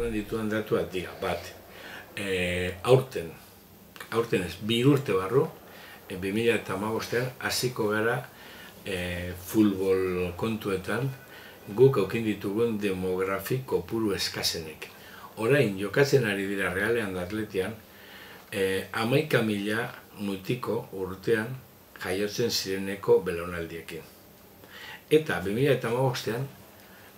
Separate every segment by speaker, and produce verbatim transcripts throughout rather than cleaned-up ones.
Speaker 1: eman dituan datuak dira, bat, aurten, aurten ez, bi urte barru, bi mila hamabostean hasiko gara futbol kontuetan guk aukin ditugun demografi kopuru eskasenek. Orain, jokatzen ari dira Realean da Atletian, hamaika mila mutiko urtean jaiotzen zireneko belaunaldiekin. Eta bi mila hamabostean,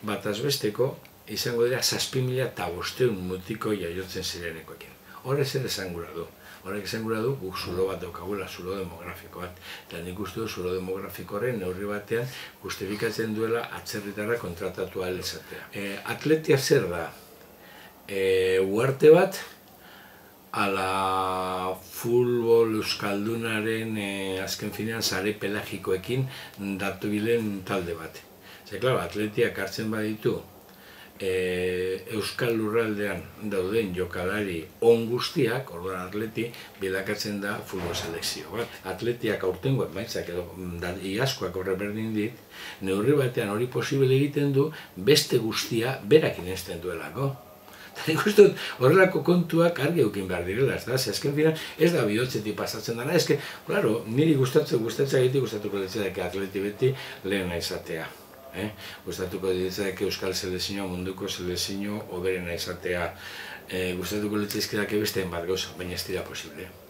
Speaker 1: bataz besteko, izango dira zazpi mila eta bosteun mutiko jaiotzen zirenekoekin. Horrek zer esan gura du. Horrek esan gura du, guk zulo bat daukagula, zulo demografiko bat. Eta nik uste du zulo demografikoren neurri batean justifikatzen duela atzerritarra kontratatu ahal izatea. Atletia zer da? Uharte bat, ala futbol euskaldunaren azken finean sare pelagikoekin datu bilen talde bat. Zer, klaro, Atletiak hartzen baditu Euskal Lurraldean dauden jokalari on guztiak, orduan Atleti, bilakatzen da futbol selekzio bat. Atletiak aurtengo emaitzak edo iazkoak horre berdin dit, neurri batean hori posible egiten du beste guztia berak inezten duelako. Eta nik uste dut horrelako kontuak argi eukin behar direla, ez da? Azken finan ez da bihotzetik pasatzen dara, ez que, claro, niri gustatzen gustatzen egiti gustatuko ditzak Atleti beti lehena izatea. Gustatuko ditzak Euskal Selezioa, munduko selezio hoberena izatea. Gustatuko ditzak beste bat gauza, baina ez dira posible.